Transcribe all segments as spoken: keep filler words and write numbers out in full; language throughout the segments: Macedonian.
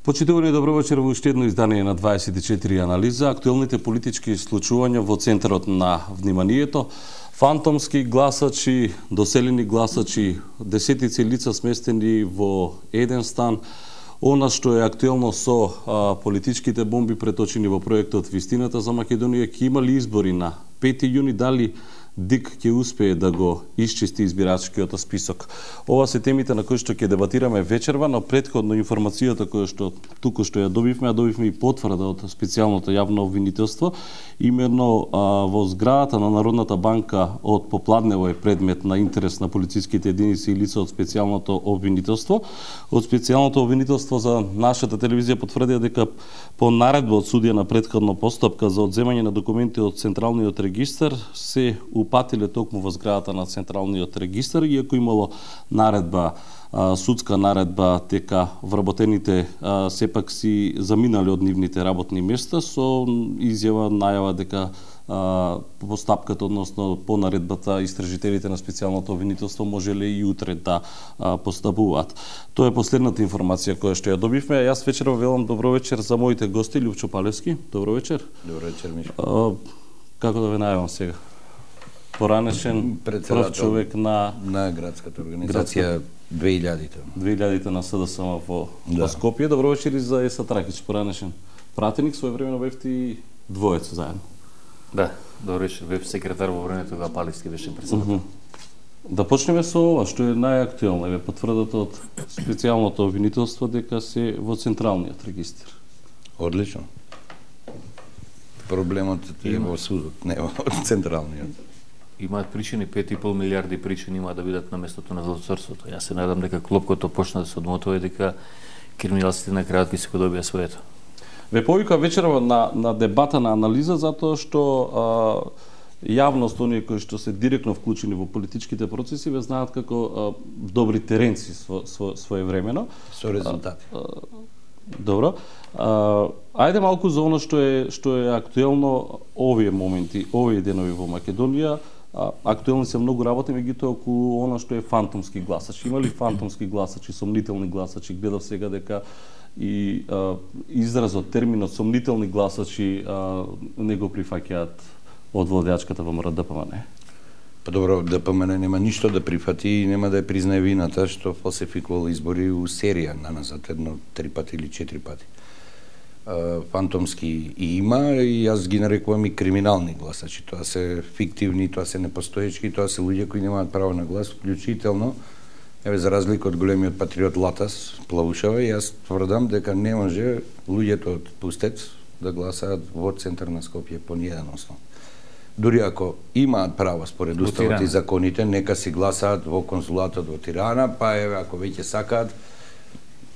Почитувани, добро вечер во уште едно издание на дваесет и четири анализа. Актуелните политички случувања во центарот на вниманието. Фантомски гласачи, доселени гласачи, десетици лица сместени во еден стан. Она што е актуелно со а, политичките бомби преточени во проектот Вистината за Македонија, ќе има ли избори на пети јуни, дали ДИК ќе успее да го исчисти избирачкиот список. Ова се темите на кои што ќе дебатираме вечерва, но претходно информацијата која што туку што ја добивме, а добивме и потврда од специјалното јавно обвинителство, именно а, во зградата на Народната банка од попладнево е предмет на интерес на полициските единици и лица од специјалното обвинителство. Од специјалното обвинителство за нашата телевизија потврдија дека по наредба од судија на претходна постапка за одземање на документи од Централниот регистар се упатиле токму во зградата на Централниот регистар, иако имало наредба, судска наредба, дека вработените сепак си заминале од нивните работни места со изјава, најава дека постапката, односно по наредбата, истражителите на специјалното обвинителство можеле и утре да постапуваат. Тоа е последната информација која што ја добивме. Јас вечерва велам добро вечер за моите гости. Лјупчо Палевски, добро вечер. Добро вечер, Мишко. Како да ве најавам сега? Поранешен прв човек на на градската организација две илјадите. две илјадите на СДСМ во, да. во Скопје. Добро вечер и за Еса Тракич, поранешен пратеник, своевремено бевте и двојца заедно. Да, добро вечер, бев секретар во времето кога Палевски беше председател. Uh -huh. Да почнеме со ова што е најактуелно, е потврдата од специјалното обвинителство дека се во Централниот регистар. Одлично. Проблемот е во судот, не во Централниот. Имаат причини, пет и пол милиарди причини има да бидат на местото на злоцорството. Јас се надам дека клопкото почна да се одмотува и дека криминалците на крајот ќе се го добија своето. Ве повика вечерва на, на дебата, на анализа, затоа што а, јавност, оние кои што се директно вклучени во политичките процеси, ве знаат како а, добри теренци сво, сво, своевремено. Со резултати. А, а, добро. А, ајде малку за оно што е што е актуелно овие моменти, овие денови во Македонија. А, актуелни се многу работи, меѓутоа околу оно што е фантомски гласачи. Има ли фантомски гласачи, сомнителни гласачи? Гледав сега дека и а, изразот, терминот сомнителни гласачи а, не го прифаќаат од владеачката ВМРО Д П М Н. Па добро, Д П М Н нема ништо да прифати и нема да ја признае вината што фалсификувал избори у серија наназад, едно три пати или четири пати. Фантомски и има, и јас ги нарекувам и криминални гласачи. Тоа се фиктивни, тоа се непостоечки, тоа се луѓе кои немаат право на глас, вклучително, еве за разлика од големиот патриот Латас Плавушева, јас тврдам дека не може луѓето од Пустец да гласаат во центар на Скопје по ниеден основ. Дури ако имаат право според уставот и законите, нека си гласаат во конзулатот во Тирана, па еве ако веќе сакаат,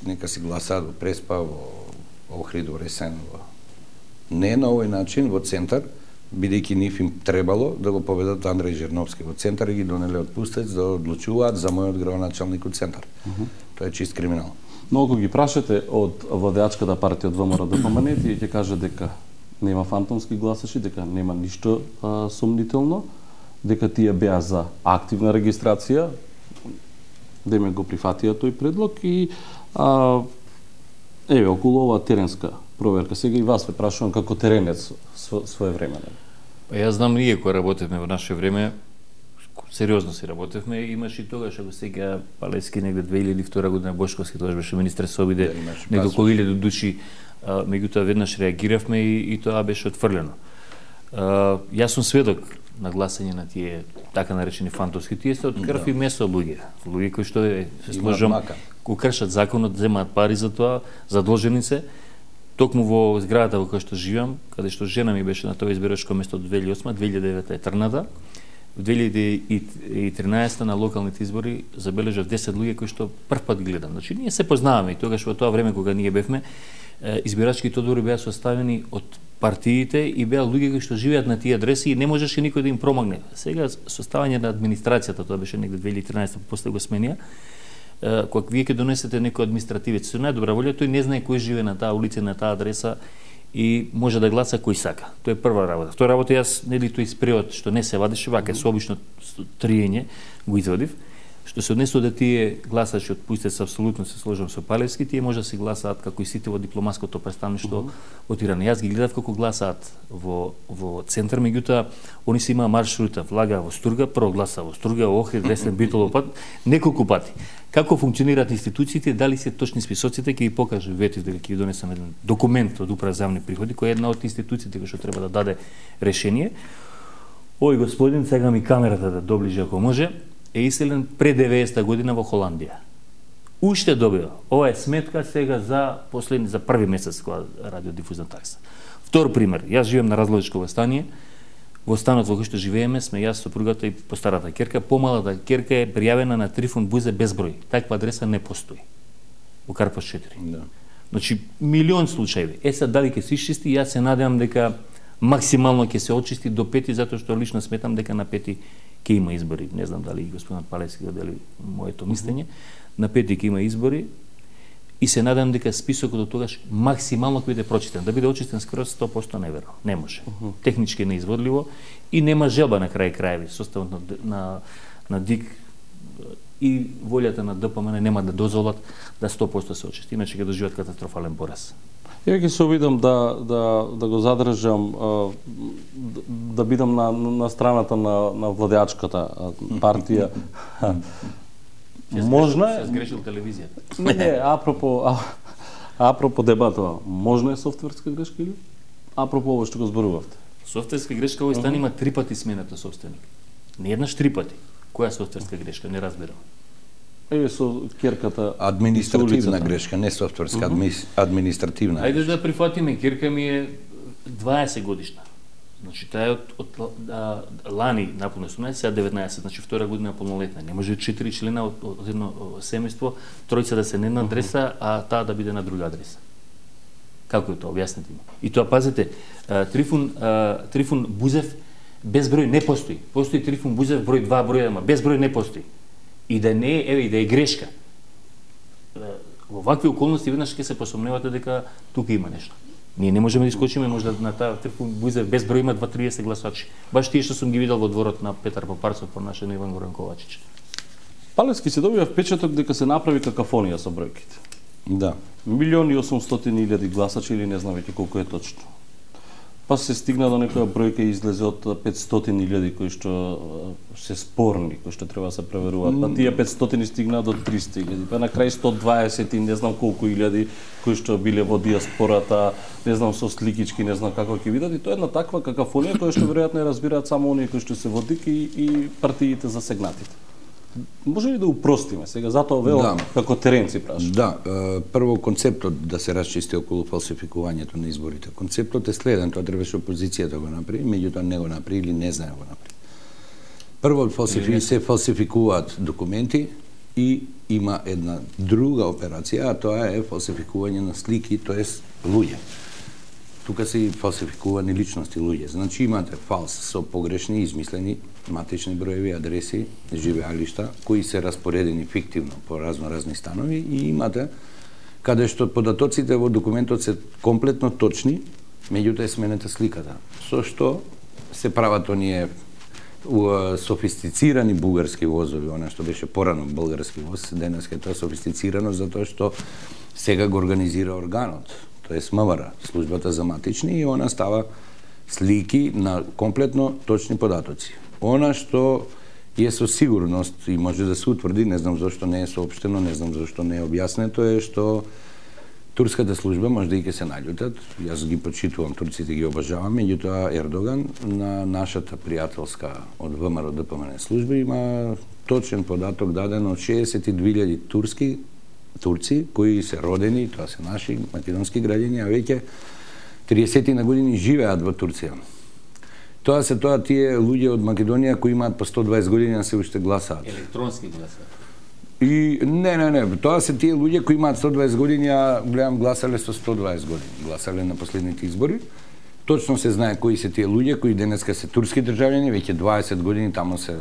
нека си гласаат во Преспа, во Охрид, во Ресен, во... Не на овој начин во центар, бидејќи нив им требало да го поведат Андреј Жерновски во центар и ги донеле од Пустец да одлучуваат за мојот градоначалник од центар. Uh -huh. Тоа е чист криминал. Но ако ги прашате од владеачката партија од ВМРО Д П М Н, тие ќе кажат дека нема фантомски гласачи, дека нема ништо а, сомнително, дека тие беа за активна регистрација, деме го прифатија тој предлог и а, еве околу оваа теренска проверка. Сега и вас ве прашувам како теренец своевремено. Па јас знам ние кои работевме во наше време, сериозно си работевме, имаш и тогаш ако сега Палевски негде две илјади и втора година, Бошковски тогаш беше министер се обиде да, негде околу илјада души, меѓутоа веднаш реагиравме и, и тоа беше отфрлено. А, јас сум сведок на гласање на тие така наречени фантомски, тие се од крв и месо луѓе, луѓе кои што се сложам, кои кршат законот, земаат пари за тоа, задолжени се. Токму во зградата во која што живеам, каде што жена ми беше на тоа избирачко место од две илјади и осма, две илјади и девета е трната. Во две илјади и тринаесета на локалните избори забележав десет луѓе кои што прв пат гледам. Значи ние се познаваме и тогаш во тоа време кога ние бевме, избирачките одбори беа составени од партиите и беа луѓе кои што живеат на тие адреси и не можеше никој да им промогне. Сега составање на администрацијата, тоа беше негде две илјади и тринаесета, после го сменија, кога вие ќе донесете некој административец со најдобра волја, тој не знае кој живее на таа улица, на таа адреса и може да гласа кој сака. Тоа е прва работа. Втора работа, јас нели тој спреот што не се вадеше, вака со обично триење го извадив. Што се однесува да тие гласачи од Пујстец, апсолутно се сложам со Палевски, тие може да се гласаат како и сите во дипломатското представништво mm -hmm. во Тирана. Јас ги гледав како гласаат во во центар, меѓутоа они се имаа маршрута, влага во Стурга, прво гласа во Стурга, Охрид, Десен, Битолов пат, неколку пати. Како функционираат институциите, дали се точни списоците, ќе ви покажа ветив дека ќе ви донесам еден документ од Управа за јавни приходи, која е една од институциите која што треба да даде решение. Ој господин, сега ми камерата да доближи ако може, е иселен пред деветдесета година во Холандија. Уште добива. Ова е сметка сега за последни за први месец кога радиодифузна такса. Втор пример, јас живеем на Разлогичко стание. Во станот во кој што живееме сме јас, сопругата и постарата керка. Помалата керка е пријавена на Трифун Бузе без број. Таква адреса не постои. Во Карпаш четири. Да. Значи милион случаи. Е сега дали ќе се исчисти, јас се надевам дека максимално ќе се очисти до пети, затоа што лично сметам дека на пети ќе има избори. Не знам дали господинот Палевски го дели моето мислење. На пети ќе има избори и се надам дека списокот до тогаш максимално ќе биде прочитан. Да биде очистен скроз сто проценти неверно. Не може. Uh -huh. Технички неизводливо и нема желба на крај крајеви. Составот на, на, на ДИК и волјата на ДПМН нема да дозволат да сто проценти се очисти. Иначе ќе доживеат катастрофален пораз. Ја ќе се обидам да, да, да го задржам, да, да бидам на, на страната на, на владеачката партија. Можно е... Се сгрешил телевизијата. Не, не, апропо, а, апропо дебатова, можно е софтверска грешка или? Апропо ово што го зборувавте. Софтверска грешка овој стан има три пати смената собственик. Не еднаш три пати. Која софтверска грешка? Не разбирам. Е, со керката... Административна грешка, не софтверска, uh -huh. административна. Ајде да прифатиме, керка ми е дваесет годишна. Значи, таа е од, од а, лани наполно осумнаесет, сега деветнаесет, значи втора година полнолетна. Не може четири члена од, од едно семејство, тројца да се на една адреса, uh -huh. а таа да биде на друга адреса. Како е тоа? Објаснете ми. И тоа, пазете, а, Трифун, а, Трифун Бузев без број не постои. Постои Трифун Бузев број два, број еден, без број не постои. И да не е, еве, и да е грешка. Во вакви околности веднаш ќе се посомневате дека тука има нешто. Ние не можеме да искочиме можда на таа Трифун Бузев без број има два триесет гласачи. Баш тие што сум ги видел во дворот на Петар Попарцов по нашен Иван Горан Ковачич. Палевски се добива впечаток дека се направи какафонија со бројките. Да. Милиони и осумстотини илјади гласачи или не знам веќе колку е точно. Па се стигна до некоја бројка и излезе од петстотини илјади кои што се спорни, кои што треба да се проверуваат. Па тие петстотини стигна до триста илјади, па на крај сто дваесет и не знам колку илјади кои што биле во диаспората, не знам со сликички, не знам како ќе видат, и тоа е една таква какафонија која што веројатно ја разбираат само оние кои што се во ДИК и, и партиите засегнатите. Може ли да упростиме сега, затоа вео да. Како теренци прашам? Да, прво концептот да се расчисти околу фалсификувањето на изборите. Концептот е следен, тоа требаше опозицијата да го направи, меѓутоа не го направи или не знае го направи. Прво фалсифи... се фалсификуваат документи и има една друга операција, а тоа е фалсификување на слики, тоест луѓе. Тука се и фалсификувани личности луѓе. Значи имате фалс со погрешни, измислени матични броеви, адреси, живеалишта, кои се распоредени фиктивно по разно-разни станови, и имате каде што податоците во документот се комплетно точни, меѓутоа е сменета сликата. Со што се прават оние софистицирани бугарски возови, она што беше порано бугарски воз, денес е тоа софистицирано затоа што сега го организира органот, тоест МВР, службата за матични, и она става слики на комплетно точни податоци. Она што е со сигурност и може да се утврди, не знам зашто не е соопштено, не знам зашто не е објаснето, е што турската служба може да и ќе се наљутат. Јас ги почитувам, турците ги обожавам, меѓутоа Ердоган на нашата пријателска од ВМРО ДПМН служба има точен податок даден од шеесет и две илјади турски турци кои се родени, тоа се наши македонски граѓани, а веќе триесет на години живеат во Турција. Тоа се тоа тие луѓе од Македонија кои имаат по сто дваесет години а се уште гласаат. Електронски гласаат. И не, не, не, тоа се тие луѓе кои имаат сто дваесет години, а гледам гласале со сто дваесет години, гласале на последните избори. Точно се знае кои се тие луѓе кои денеска се турски државјани, веќе дваесет години таму се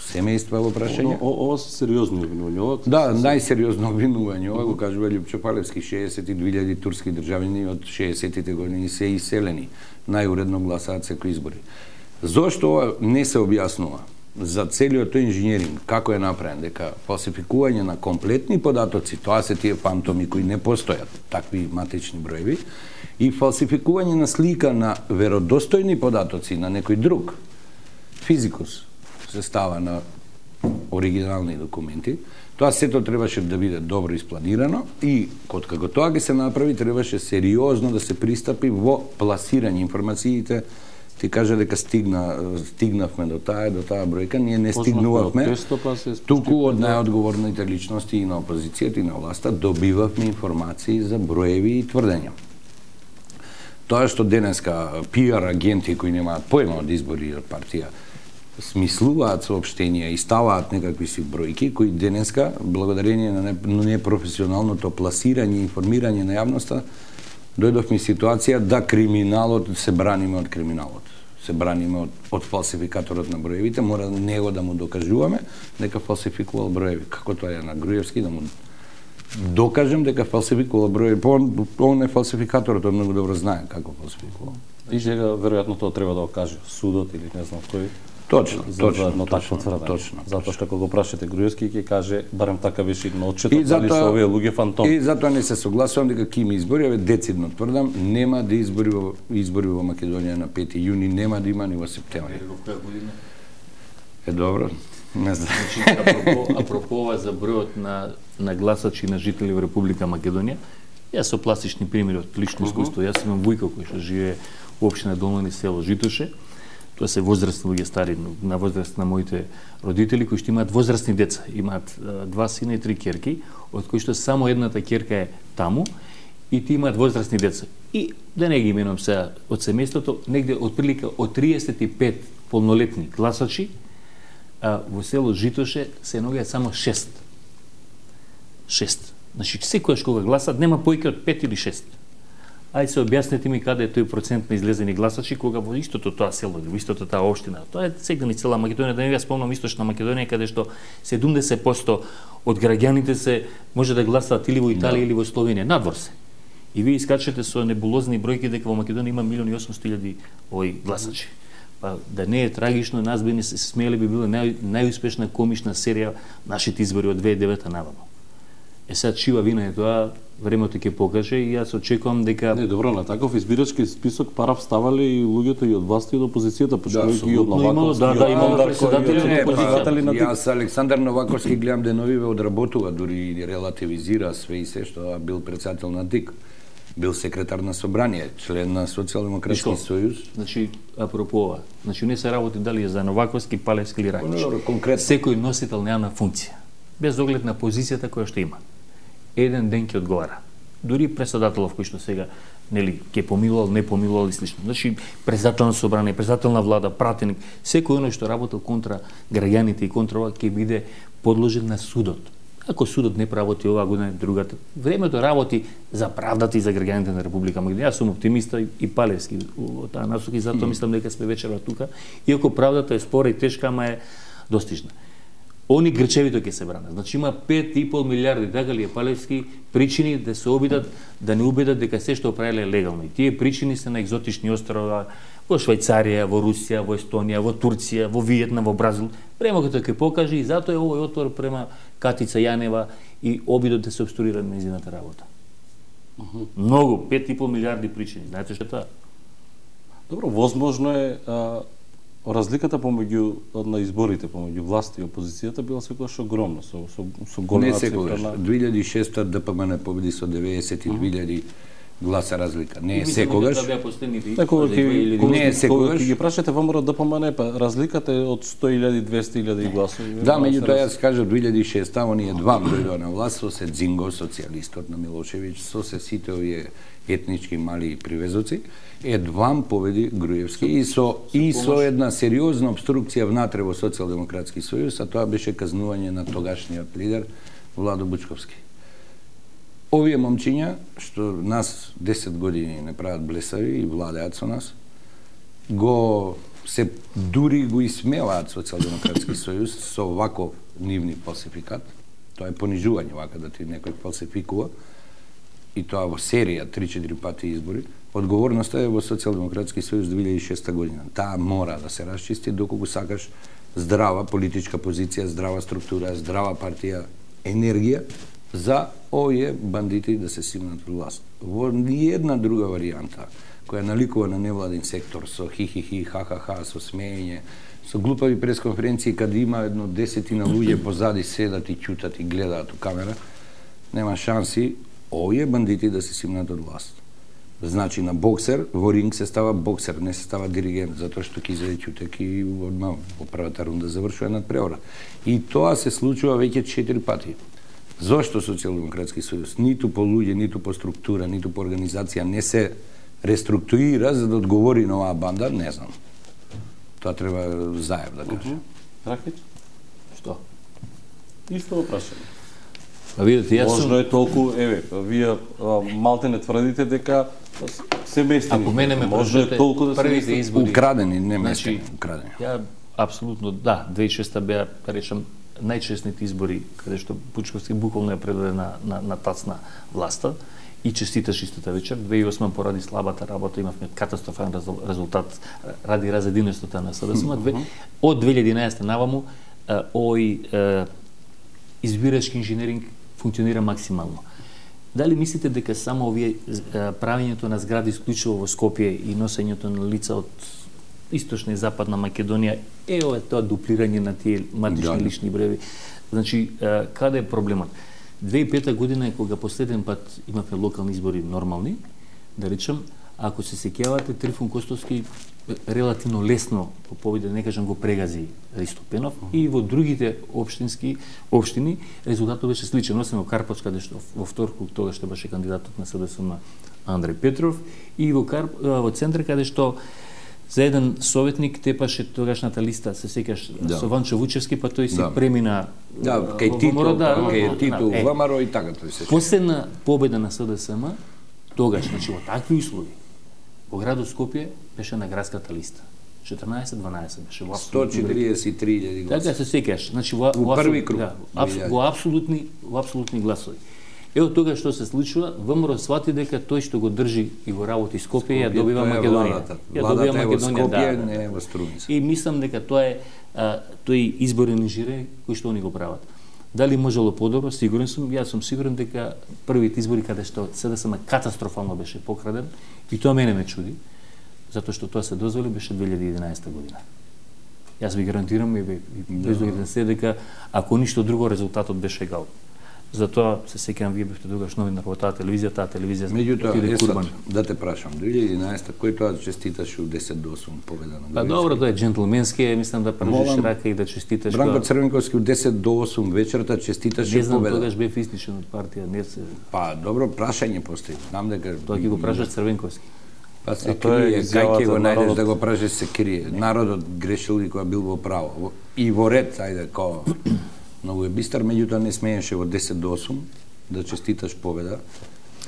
семејства во прашање. Ова се сериозни обвинувања. Да, најсериозно обвинување. Ова го кажува Љупчо Палевски, шеесет и две илјади турски државјани од шеесеттите години се иселени. Најуредно гласаат секои избори. Зошто ова не се објаснува? за целиот тој инженеринг, како е направен, дека фалсификување на комплетни податоци, тоа се тие фантоми кои не постојат, такви матични броеви, и фалсификување на слика на веродостојни податоци на некој друг, физикус, се става на оригинални документи, тоа сето требаше да биде добро испланирано и код како тоа ќе се направи, требаше сериозно да се пристапи во пласирање информациите. Ти кажа дека стигна, стигнавме до таа, до таа бројка, ние не стигнувавме, туку од најодговорните личности и на опозицијата и на власта добивавме информации за броеви и тврдења. Тоа што денеска пиар агенти кои немаат појма од избори од партија смислуваат соопштенија и ставаат некакви си бројки кои денеска, благодарение на непрофесионалното пласирање и информирање на јавноста, дојдовме ситуација да криминалот се браниме од криминалот. Се браниме од, од фалсификаторот на броевите, мора него да му докажуваме дека фалсификувал броеви. Како тоа е на Груевски, да му докажем дека фалсификувал броеви. Он, он е фалсификаторот, он многу добро знае како фалсификувал. И сега веројатно тоа треба да го каже судот или не знам кој. Точно, за, точно, за точно, точно, точно. Затоа што кога го прашате Груевски ќе каже барем така беше на отчетот, затоа, дали се овие луѓе фантоми. И затоа не се согласувам дека ким избори, еве децидно тврдам, нема да избори во избори во Македонија на пети јуни, нема да има ни во септември. Е добро. Не знам. Значи, апропо, апропо ова за бројот на на гласачи на жители во Република Македонија, јас со пластични примери од лично искуство, јас имам вујка кој што живее во општина Долмани, село Житоше. Тоа се возрастни луѓе, стари, на возраст на моите родители, кои што имаат возрастни деца. Имаат два сина и три ќерки, од кои што само едната ќерка е таму, и ти имаат возрастни деца. И, да не ги именувам сега од семејството, негде отприлика од триесет и пет полнолетни гласачи, а во село Житоше се наоѓаат само шест. Шест. Значи, секојаш кога гласат, нема поиќе од пет или шест. Ајде се објаснете ми каде е тој процент на излезени гласачи кога во истото тоа село, во истото таа општина. Тоа е сега ни цела Македонија, да не ја спомнам Источна Македонија каде што седумдесет проценти од граѓаните се може да гласаат или во Италија, да, или во Словенија, надвор се. И вие искачате со небулозни бројки дека во Македонија има милион и осумстотини илјади овој гласачи. Па да не е трагично, нас би не се смееле, би била нај, најуспешна комична серија нашите избори од две илјади и девета наваму. Е сега чива вина е тоа, времето ќе покаже и јас очекувам дека... Не, добро, на таков избирачки список парав ставале и луѓето и од власта и од опозицијата, почнувајќи да, и од Новаковски. Да, да, имало председатели на опозицијата. Јас Александар Новаковски гледам деновиве одработува, дури и релативизира све и се што бил председател на ДИК. Бил секретар на собрание, член на Социјалдемократски сојуз. Значи, апропо ова, значи не се работи дали е за Новаковски, Палевски или Рајчич. Конкретно. Секој носител на јавна функција, без оглед на позицијата која што има, еден ден ќе одговара. Дури председателов кој што сега нели ќе помилувал, не помилувал и слично. Значи председател на собрание, председател на влада, пратеник, секој оној што работел контра граѓаните и контра ова ќе биде подложен на судот. Ако судот не работи оваа година, другата, времето работи за правдата и за граѓаните на Република Македонија. Јас сум оптимиста и Палевски во таа насока и затоа мислам дека сме вечерва тука, иако правдата е спора и тешка, ама е достижна. Они грчевито ќе се бранат. Значи има пет и пол милиарди, така ли е Палевски, причини да се обидат, да не убедат дека се што правеле е легално. И тие причини се на екзотични острова, во Швајцарија, во Русија, во Естонија, во Турција, во Виетнам, во Бразил. Времето ќе покаже и затоа е овој отвор према Катица Јанева и обидот да се обструира нејзината работа. Uh -huh. Многу, пет и пол милиарди причини. Знаете што е тоа? Добро, возможно е а, разликата помеѓу на изборите помеѓу власт и опозицијата била секогаш огромна, со со со голема цифра. Не секогаш. На... две илјади и шеста ДПМН победи со деветдесет и две илјади гласа разлика. Не е секогаш. Не е секогаш. Ги прашате ВМРО ДПМН, па разликата е од сто илјади, двесте илјади гласови. Да, меѓутоа јас кажав две илјади и шеста оние два дојдоа на власт со се Дзинго, социјалистот на Милошевиќ, со се сите овие етнички мали привезоци, едвам победи Груевски и со и со една сериозна обструкција внатре во Социјалдемократски сојуз, а тоа беше казнување на тогашниот лидер Владо Бучковски. Овие момчиња, што нас десет години не прават блесави и владеат со нас, го се дури го исмеваат Социјалдемократски сојуз со ваков нивни фалсификат. Тоа е понижување, вака да ти некој фалсификува, и тоа во серија три-четири пати избори. Одговорноста е во Социјалдемократски сојуз две илјади и шеста година. Таа мора да се расчисти, доколку сакаш здрава политичка позиција, здрава структура, здрава партија, енергија за овие бандити да се симнат во власт. Во ниедна друга варијанта која наликува на невладин сектор со хи-хи-хи, ха-ха-ха, со смеење, со глупави пресконференции каде има едно десетина луѓе позади седат и ќутат и гледаат у камера, нема шанси овие бандити да се симнат од власт. Значи на боксер, во ринг се става боксер, не се става диригент, затоа што ќе изеде ќутек и одма во првата рунда завршува надпревара. И тоа се случува веќе четири пати. Зошто Социјалдемократски сојуз ниту по луѓе, ниту по структура, ниту по организација не се реструктурира за да одговори на оваа банда, не знам. Тоа треба Заев да каже. Ракич? Што? Исто прашање. Па видите, јас сум... Можно е толку, еве, вие малте не тврдите дека се местени. Ако мене ме може е толку да се првите избори украдени, не значи, местени, украдени. Ја апсолутно да, две илјади и шеста беа, да речам, најчесните избори каде што Пучковски буквално ја предаде на на на тацна власта и честиташ истата вечер. две илјади и осма поради слабата работа имавме катастрофален резултат ради разединеноста на СДСМ. Од две илјади и единаесета наваму овој избирачки инженеринг функционира максимално. Дали мислите дека само овие правењето на згради исклучиво во Скопје и носењето на лица од источна и западна Македонија е ова тоа дуплирање на тие матични да. лични броеви? Значи, каде е проблемот? две илјади и пета година е кога последен пат имавме локални избори нормални, да речем, ако се сеќавате, Трифун Костовски релативно лесно, по победа, не кажам, го прегази Ристо Пенов, uh -huh. и во другите општински општини резултатот беше сличен, освен во Карпоч, каде што во втор круг тогаш што беше кандидатот на СДСМ Андреј Петров, и во Карп, во центар каде што за еден советник тепаше тогашната листа, се сеќаш, да. со Ванчо Вучевски, па тој си да. премина да, кај Тито, да, кај Тито, е, Вамаро и така тој се. Последна победа на СДСМ тогаш, значи во такви услови, во градот Скопје беше на градската листа. четрнаесет дванаесет беше во сто четиридесет и три илјади гласови. Така се сеќаш, значи во, во први круг. Да, абс, во апсолутни, во апсолутни гласови. Ево тога што се случува, ВМРО свати дека тој што го држи и го работи Скопје, ја добива Македонија. Ја добива Македонија, Скопје, да, не е во Струмица. И мислам дека тоа е а, тој изборен инженеринг кој што они го прават. Дали можело подобро? Сигурен сум. Јас сум сигурен дека првите избори каде што СДСМ катастрофално беше покраден, и тоа мене ме чуди, затоа што тоа се дозволи беше две илјади и единаесета година. Јас ви гарантирам и без да се дека ако ништо друго резултатот беше егал. Затоа се сеќавам, вие бевте тогаш новинар во таа телевизија, таа телевизија отиде курбан. Да те прашам, две илјади и единаесета кој тоа честиташе у десет до осум победа на Груевски? Па добро, тоа е џентлменски, мислам да пржиш рака и да честиташ. Бранко Црвенковски у десет до осум вечерта честиташе победа. Не знам, тогаш бев истичен од партија, не се. Па добро, прашање постои. Знам дека тоа ќе го прашаш Црвенковски. Па се крие, кај ќе го најдеш да го прашаш, се крие. Народот грешил и кога бил во право. И во ред, ајде, као многу е бистар, меѓутоа не смееше во десет до осум да честиташ победа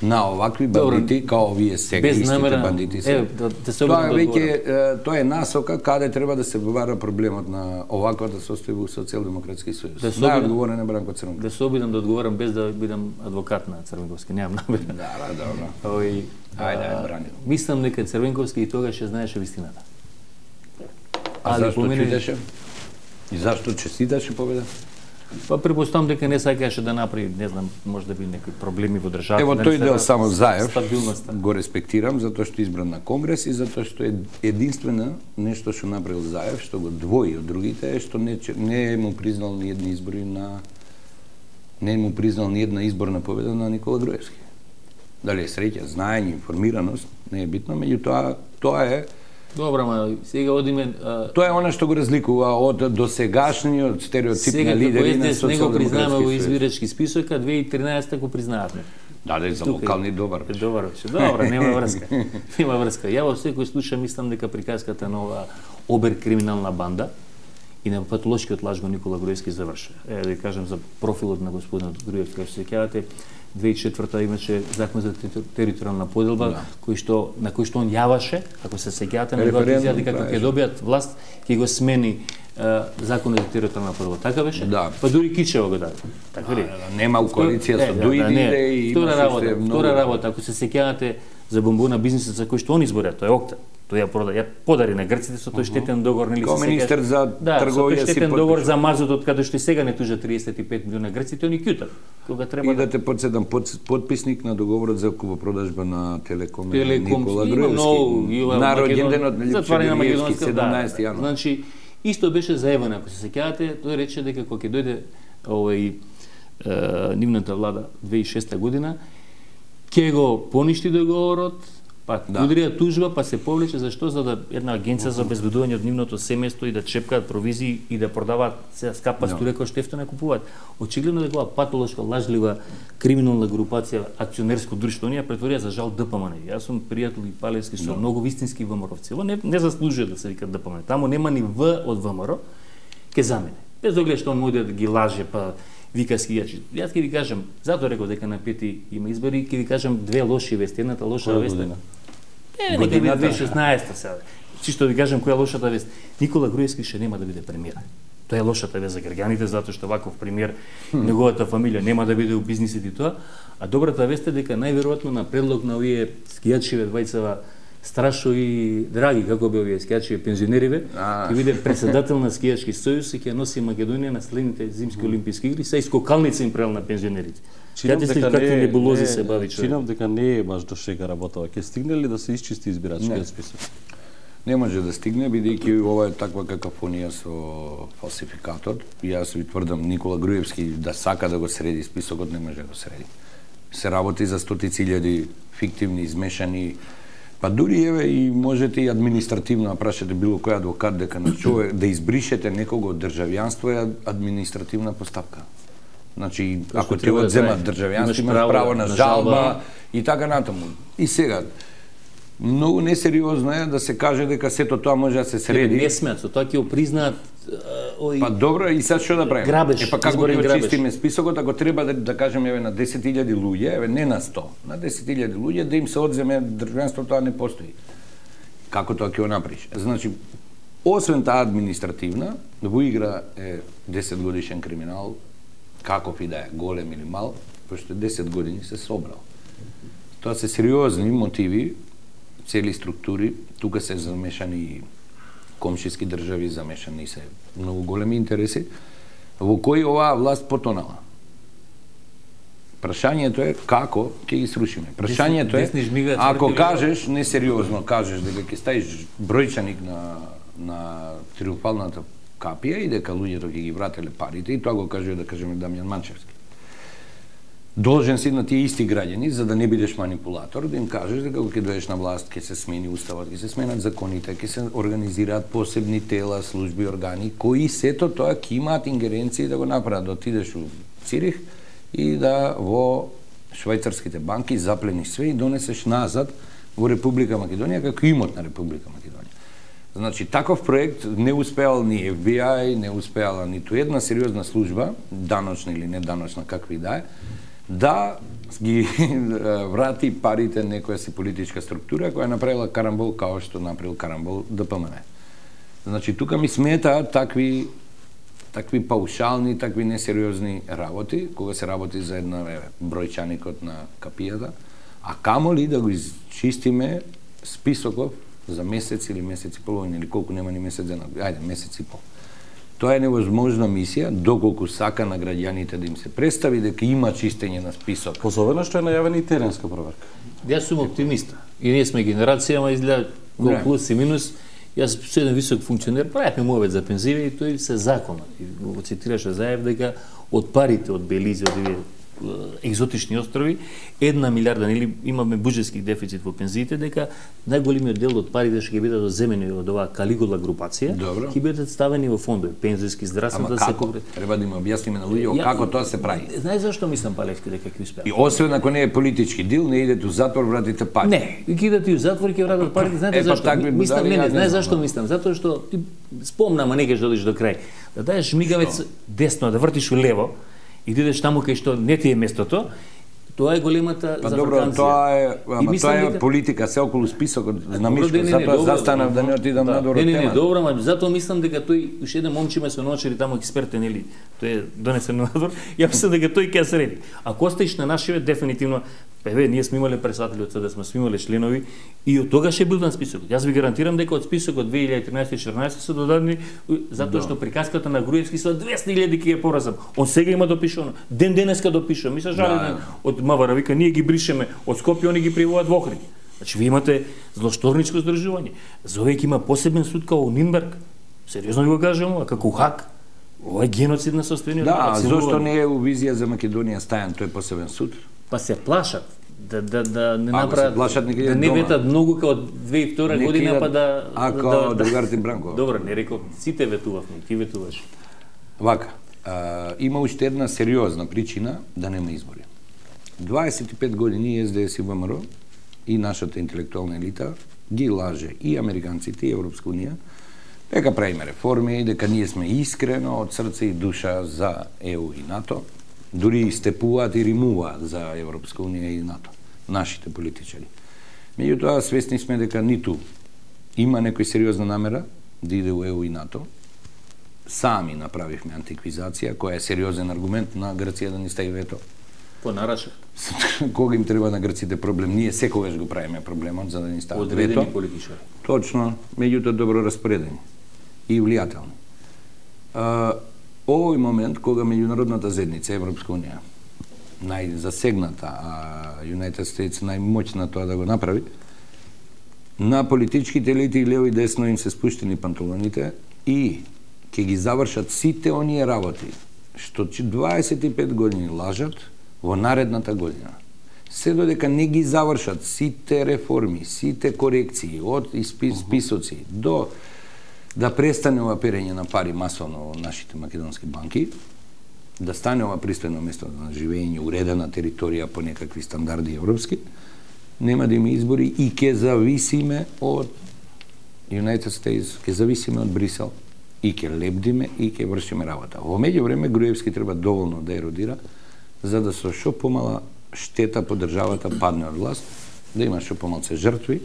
на овакви бандити, као овие сега, истите бандити се. Е, да, да се тоа е веќе, тоа е насока каде треба да се вара проблемот на оваквата состојба во Социјалдемократски сојуз. Да најодговорен е Бранко Црвенковски. Да се обидам да одговорам без да бидам адвокат на Црвенковски, немам намера. Да, да, добро. Ој, ајде, ајде, брани. Мислам дека Црвенковски и тогаш ја знаеше вистината. А зашто чудеше? И зашто честиташе победа? Па препоставам дека не сакаше да направи, не знам, може да би некои проблеми во државата. Ево тој дел само Заев стабилноста. Го респектирам затоа што избран на Конгрес и затоа што е единствено нешто што направил Заев, што го двои од другите, е што не не му признал ни едни избори на не му признал ни една изборна победа на Никола Груевски. Дали е среќа, знаење, информираност, не е битно, меѓутоа тоа е Добра, ма сега одиме... А... Тоа е она што го разликува од досегашниот стереотип на лидери на Социјалдемократски сојуз. Сега го признаваме во избирачки список, а две илјади и тринаесета го признававме. Да, да, за локални добар. Добар беше. Добра, нема врска. Нема врска. Ја во секој случај мислам дека приказката на ова обер криминална банда и на патолошкиот лажго Никола Груевски завршува. Е, да кажам за профилот на господинот Груевски, како се сеќавате, две илјади и четврта имаше закон за територијална поделба, да. кој што на кој што он јаваше, ако се сеќавате, неговата изјава дека ќе добијат власт, ќе го смени uh, законот за територијална поделба. Така беше? Да. Па дури Кичево го даде. Така ли? Да, нема у коалиција со Дуиди и втора работа, втора работа, ако се сеќавате за бомбона бизнисот за кој што он изборија, тоа е Окта. Тој ја прода, ја подари на грците со тој штетен договор, нели Као министер за да, трговија си штетен подпиша. договор за мазутот, каде што и сега не тужа триесет и пет милиона грците, они кјутат. Кога треба И да те подседам под, подписник на договорот за купопродажба на Телеком, Телеком Никола има Груевски. многу, На роѓенденот на затварање на Липчев Македонска, седумнаесети да, јануари. Значи исто беше заебано, ако се сеќавате, тој рече дека кога ќе дојде овој е, нивната влада две илјади и шеста година, ќе го поништи договорот, па Да. удрија тужба, па се повлече зашто за да една агенција за обезбедување од нивното семејство и да чепкаат провизии и да продаваат се скапа струја кој што ефтино купуваат. Очигледно дека ова патолошка, лажлива, криминална групација, акционерско друштво, оние ја претворија за жал ДПМН. Јас сум пријател и палевски со многу вистински ВМРО-вци. Ова не, не заслужува да се вика ДПМН. Таму нема ни В од ВМРО, ќе замене. Без оглед што он оди да ги лаже, па вика скијачи. Јас ќе ви кажам, затоа реков дека на пети има избори, ќе ви кажам две лоши вести. Едната лоша вест е Е, нека биде две илјади и шеснаесета сега. Чисто ви кажам која е лошата вест. Никола Груевски ше нема да биде премиер. Тоа е лошата вест за граѓаните, затоа што ваков премиер, неговата фамилија нема да биде у бизнисите и тоа. А добрата вест е дека најверојатно на предлог на овие скијачиве двајцава Страшо и Драги, како би овие скијачиве пензионериве, ќе биде председател на скијачки сојуз и ќе носи Македонија на следните зимски олимписки игри, се скокалница им прел на пензионерите. Чинам Каде дека какви не, небулози не, се бави човек. Чинам дека не е баш до шега работава. Ќе стигне ли да се исчисти избирачкиот список? Не може да стигне, бидејќи ова е таква какафонија со фалсификатот. Јас ви тврдам, Никола Груевски да сака да го среди списокот, не може да го среди. Се работи за стотици илјади фиктивни, измешани, па дури еве и можете и административно да прашате било кој адвокат дека на човек да избришете некого од државјанство е административна постапка. Значи, ако ти треба да одземат трае. државјанство, Имаш имаш право право на на жалба. жалба и така натаму. И сега, многу несериозно е да се каже дека сето тоа може да се среди. Не смеат, со тоа ќе го признаат ој Па добро, и сега што да правиме? Грабеж, Е па како изборен ќе грабеж. очистиме списокот, ако треба да, да кажеме еве на десет илјади луѓе, еве не на сто, на десет илјади луѓе да им се одземе државјанство, тоа не постои. Како тоа ќе го направиш? Значи, освен таа административна, во игра е десет годишен криминал, каков и да е, голем или мал, пошто десет години се собрал. Тоа се сериозни мотиви, цели структури, тука се замешани комшиски држави, замешани се многу големи интереси, во кои оваа власт потонала. Прашањето е како ќе ги срушиме. Прашањето е, Десни жмигаат ако тврди кажеш, несериозно кажеш дека ќе ставиш бројчаник на, на триумфалната капија и дека луѓето ќе ги врателе парите, и тоа го кажува, да кажеме, Дамјан Манчевски. Должен си на тие исти граѓани, за да не бидеш манипулатор, да им кажеш дека кога ќе дојдеш на власт, ќе се смени уставот, ќе се сменат законите, ќе се организираат посебни тела, служби, органи, кои сето тоа ќе имаат ингеренции да го направат, да отидеш у Цирих и да во швајцарските банки заплениш све и донесеш назад во Република Македонија како имот на Република Македонија. Значи, таков проект не успеал ни Еф Би Ај, не успеала ниту една сериозна служба, даночна или неданочна, какви да е, да ги врати парите некоја си политичка структура која направила карамбол као што направил карамбол ДПМН. Значи, тука ми сметаат такви такви паушални, такви несериозни работи, кога се работи за една еве, бројчаникот на капијата, а камоли да го изчистиме списоков за месец или месец и половина, или колку нема ни месец дена, ајде, месец и пол. Тоа е невозможна мисија, доколку сака на граѓаните да им се представи дека има чистење на список. Особено што е најавена и теренска проверка. Јас сум оптимиста. И ние сме генерација, ама изгледа колку плюс и минус. Јас со еден висок функционер правевме мовет за пензиве и тој се законот. И го цитираше Заев дека од парите од Белизе, од овие екзотични острови, една милиарда, нели имаме буџетски дефицит во пензиите, дека најголемиот дел од парите што ќе бидат одземени од оваа Калигула групација, ќе бидат ставени во фондови, пензиски, здравствено да се покрие. Треба да им објасниме на луѓето како тоа се прави. Знаеш зашто мислам, Палевски, дека ќе успеа? И освен ако не е политички дил, не идете у затвор, вратите пари. Не, ги идете и у затвор ќе вратат парите, знаете е, зашто? Мислам, не, не, знаеш зашто да. мислам? Затоа што ти спомнам, а не ќе додиш до крај. Да даеш мигавец десно, да вртиш у лево, и да идеш таму кај што не ти е местото, тоа е големата па, за добро, ваканција. тоа е, ама тоа е дека... политика, се околу списокот на Добро, Мишко, не, не, затоа добро, застанав да не отидам да, надвор од не, не, не, темата. добро, ама затоа мислам дека тој уште еден момче ме со ночери таму експертен, нели, тој е донесен надвор, ја мислам дека тој ќе се среди. Ако оставиш на нашиве, дефинитивно Еве, ние сме имале председатели од СДСМ, сме имале членови и од тогаш е бил на списокот. Јас ви гарантирам дека од списокот две илјади и тринаесета и четирнаесета се додадени затоа што приказката на Груевски со двесте илјади ќе ја поразам. Он сега има допишано. Ден денеска допишува. Ми се жали да. Од Мавара вика ние ги бришеме од Скопје, они ги приводат во Охрид. Значи ви имате злошторничко здржување. Зовеќе има посебен суд као Нинберг. Сериозно ви го кажам, а како Хаг. Ова е геноцид на состојанието. Да, зошто не е у визија за Македонија стајан тој посебен суд? Па се плашат да да да не Ако направат, плашат, не да не ветат многу како две илјади и втора не година кидат, па да ако да, да, другарите Бранко. Добро, не реков, сите ветувавме, ти ветуваш. Вака, а, има уште една сериозна причина да нема избори. дваесет и пет години СДС и ВМРО и нашата интелектуална елита ги лаже и американците и Европска унија дека правиме реформи, дека ние сме искрено од срце и душа за Е У и НАТО, дури степуваат и римуваат за Европска унија и НАТО, нашите политичари. Меѓутоа, свесни сме дека ниту има некој сериозна намера да иде у Е У и НАТО. Сами направивме антиквизација, која е сериозен аргумент на Грција да ни стави вето. Понараша. Кога им треба на грците проблем, ние секогаш го правиме проблемот за да ни стават вето. Одредени политичари. Точно, меѓутоа добро распоредени и влијателни. А, овој момент кога меѓународната заедница Европска унија најзасегната, а United States најмоćна тоа да го направи, на политичките елити и лево и десно им се спуштени панталоните и ќе ги завршат сите оние работи што дваесет и пет години лажат во наредната година. Се додека не ги завршат сите реформи, сите корекции од списоци до да престане ова перење на пари масовно во нашите македонски банки, да стане ова пристојно место на живење, уредена територија по некакви стандарди европски, нема да има избори и ќе зависиме од United States, ќе зависиме од Брисел и ќе лебдиме и ќе вршиме работа. Во меѓувреме Груевски треба доволно да еродира за да со шо помала штета по државата падне од власт, да има шо помалце жртви.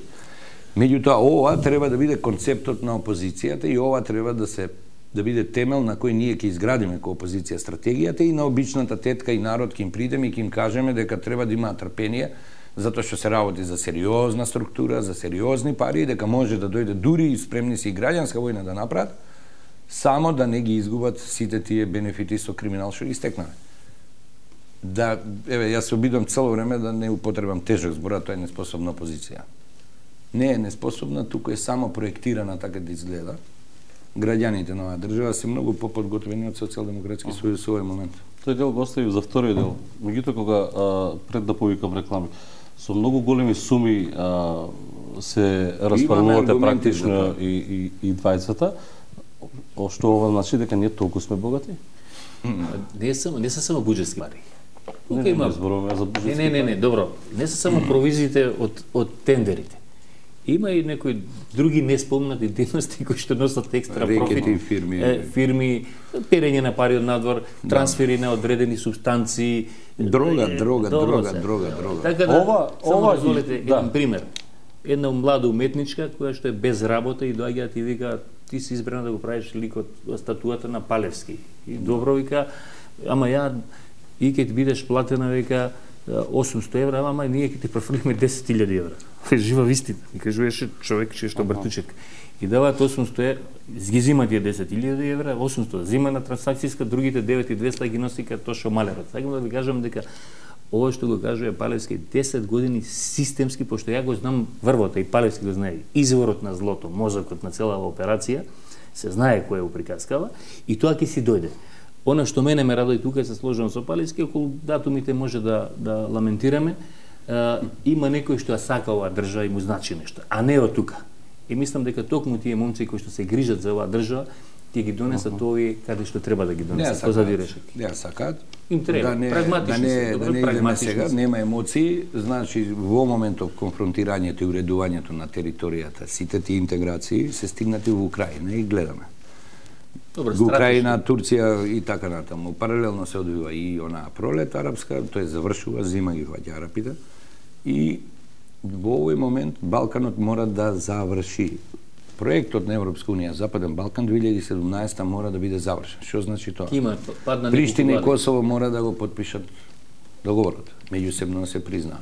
Меѓутоа ова треба да биде концептот на опозицијата и ова треба да се да биде темел на кој ние ќе изградиме како опозиција стратегијата и на обичната тетка и народ ќе им придеме и ќе им кажеме дека треба да има трпение затоа што се работи за сериозна структура, за сериозни пари, дека може да дојде дури и спремни си и граѓанска војна да направат, само да не ги изгубат сите тие бенефити со криминал што ги стекнаме. Да, еве, јас се обидам цело време да не употребам тежок збор, а тоа е неспособна опозиција. Не е неспособна, туку е само проектирана така да изгледа. Граѓаните на оваа држава се многу поподготвени од Социјалдемократски сојуз во овој момент. Тој дел го остави за вториот дел. Меѓутоа кога а, пред да повикам реклами, со многу големи суми а, се распарувате практично и, и, и двајцата, што ова значи дека ние толку сме богати? Не само не се само буџетски пари. Не, не, не зборуваме за буџетски. Не, не, не, не, добро. Не се само провизиите од од тендерите. Има и некои други неспомнати дейности кои што носат екстра профит. Фирми, е, фирми, перење на пари од надвор, трансфери на одредени субстанции, дрога, е, дрога, добро, дрога, дрога, дрога. Така да, ова, само ова дозволете да. еден пример. Една млада уметничка која што е без работа и доаѓаат и вика ти си избрана да го правиш ликот статуата на Палевски. И добро вика, ама ја и ќе ти бидеш платена вика осумсто евра, ама ние ќе ти профрлиме десет илјади евра. Жива вистина. И кажуваше човек че што бртучек. И даваат осумсто евра, ги зима тие десет илјади евра, осумсто зима на трансакцијска, другите девет и двесте ги носи како што малерот. Сакам да ви кажам дека ова што го кажува Палевски десет години системски, пошто ја го знам врвота и Палевски го знае, изворот на злото, мозокот на целава операција, се знае кој го приказкава и тоа ќе си дојде. Она што мене ме радои тука се сложувам со Палевски, околу датумите може да да ламентираме, е, има некој што ја сака оваа држава и му значи нешто, а не од тука. И мислам дека токму тие момци кои што се грижат за оваа држава, тие ги донесат uh -huh. овие каде што треба да ги донесат. Позади решетки. Ја сакаат. Им треба. Да не, прагматични да не, се, добро, да не идеме сега, се. нема емоции, значи во моментов конфронтирањето и уредувањето на територијата, сите тие интеграции се стигнати во Украина и гледаме. Добро, Украина, Турција и така натаму. Паралелно се одвива и онаа пролет арапска, тој завршува, зима ги ваѓа арапите и во овој момент Балканот мора да заврши. Проектот на Европска унија Западен Балкан две илјади и седумнаесета година мора да биде завршен. Што значи тоа? Има падна Приштина и Косово мора да го потпишат договорот, меѓусебно да се признаа.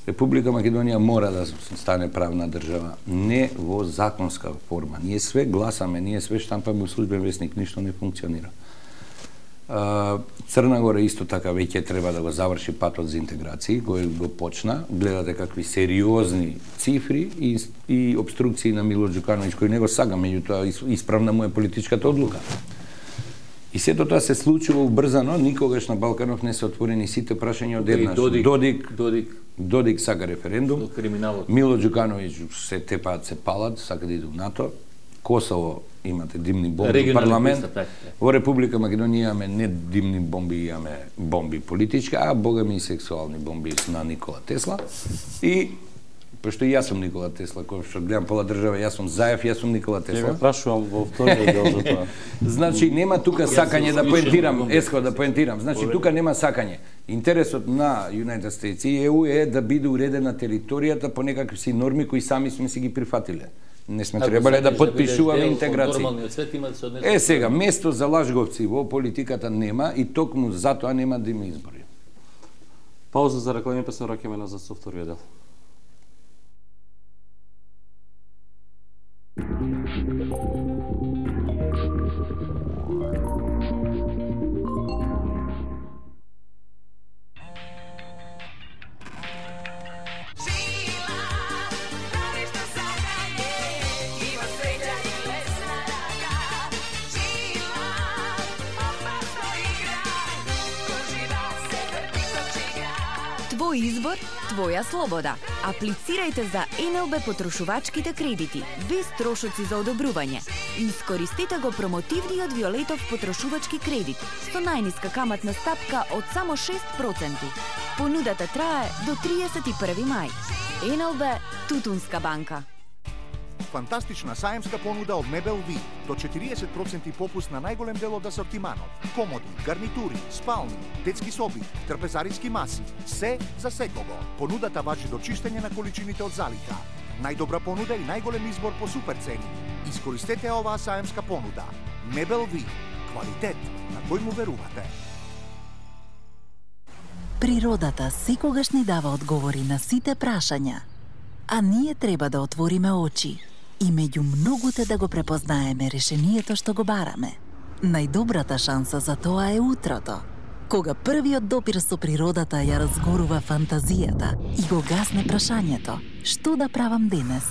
Република Македонија мора да стане правна држава, не во законска форма. Ние све гласаме, ние све штампаме во службен весник, ништо не функционира. Црна Гора исто така веќе треба да го заврши патот за интеграција, го, го почна. Гледате какви сериозни цифри и, и обструкции на Мило Џукановиќ, кој не го сага, меѓутоа исправна му е политичката одлука. И сето тоа се случува убрзано, никогаш на Балканов не се отворени сите прашања одеднаш. Додик, Додик, Додик, Додик сака референдум, криминалот. Мило Џукановиќ се тепаат, се палат, сака да иде у НАТО. Косово имате димни бомби во парламент. Во Република Македонија имаме не димни бомби, имаме бомби политички, а бога ми и сексуални бомби на Никола Тесла. И пошто и јас сум Никола Тесла, кој што гледам пола држава, јас сум Заев, јас сум Никола Тесла. Ја ме прашувам во вториот дел за тоа. Значи нема тука сакање да поентирам, еско да поентирам. Значи тука нема сакање. Интересот на United States и Е У е да биде уредена територијата по некакви си норми кои сами сме си ги прифатиле. Не сме требале да потпишуваме интеграција. Е сега, место за лажговци во политиката нема и токму затоа нема да има избори. Пауза за реклами, па се враќаме назад со вториот дел. Твој избор, твоја слобода. Аплицирајте за Ен Ел Бе потрошувачките кредити, без трошоци за одобрување. Искористете го промотивниот Виолетов потрошувачки кредит со најниска каматна стапка од само шест проценти. Понудата трае до триесет и први мај. Ен Ел Бе Тутунска банка. Фантастична саемска понуда од Мебел Ви. До четириесет проценти попуст на најголем дел од асортиманот. Комоди, гарнитури, спални, детски соби, трпезариски маси. Се за секого. Понудата важи до чистење на количините од залика. Најдобра понуда и најголем избор по супер цени. Искористете оваа саемска понуда. Мебел Ви. Квалитет на кој му верувате. Природата секогаш ни дава одговори на сите прашања, а ние треба да отвориме очи и меѓу многуте да го препознаеме решението што го бараме. Најдобрата шанса за тоа е утрото, кога првиот допир со природата ја разгорува фантазијата и го гасне прашањето што да правам денес.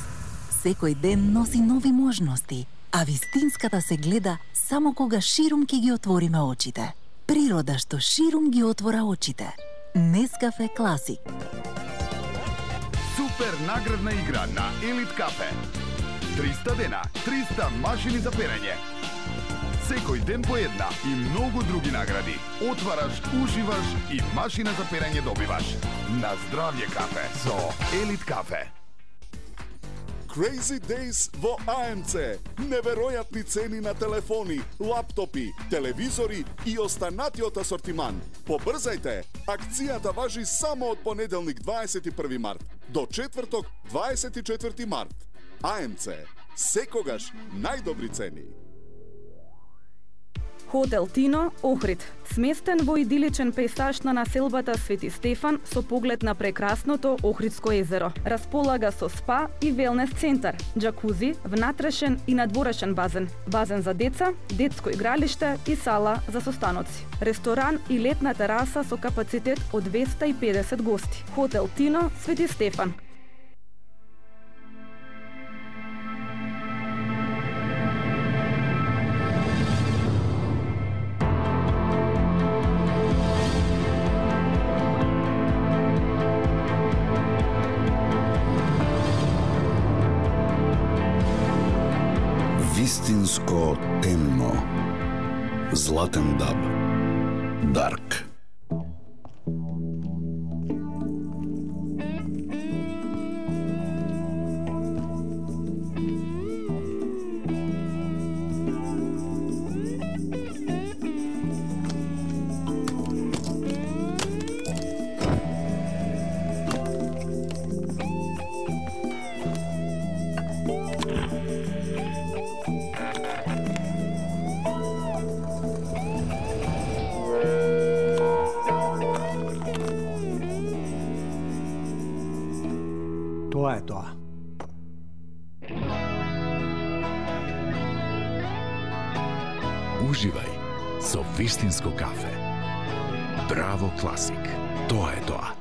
Секој ден носи нови можности, а вистинската се гледа само кога ширум ќе ги отвориме очите. Природа што ширум ги отвора очите. Нескафе Класик. Супер наградна игра на Елит Кафе. триста дена, триста машини за перење. Секој ден по една и многу други награди. Отвараш, уживаш и машина за перење добиваш. На здравје кафе со Елит Кафе. Crazy Days во А Ем Це. Неверојатни цени на телефони, лаптопи, телевизори и останатиот асортиман. Побрзајте! Акцијата важи само од понеделник дваесет и први март до четврток дваесет и четврти март. А Ем Це. Секогаш најдобри цени. Хотел Тино, Охрид. Сместен во идиличен пејсаж на населбата Свети Стефан со поглед на прекрасното Охридско езеро. Располага со спа и велнес центар, џакузи, внатрешен и надворешен базен, базен за деца, детско игралиште и сала за состаноци. Ресторан и летна тераса со капацитет од двеста и педесет гости. Хотел Тино, Свети Стефан. Вистинско темно. Златен даб. Дарк. Тоа е тоа. Уживај со вистинско кафе. Браво Класик. Тоа е тоа.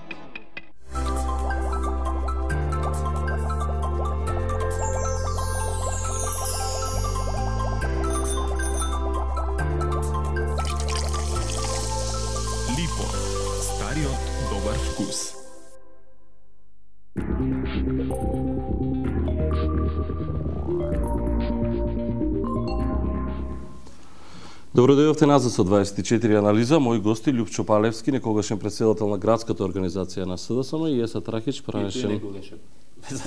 Липо. Стариот добар вкус. Добро дојдовте назад со дваесет и четири анализа. Мои гости Љупчо Палевски, некогашен председател на градската организација на СДСМ, и Еса Трахич, пранешен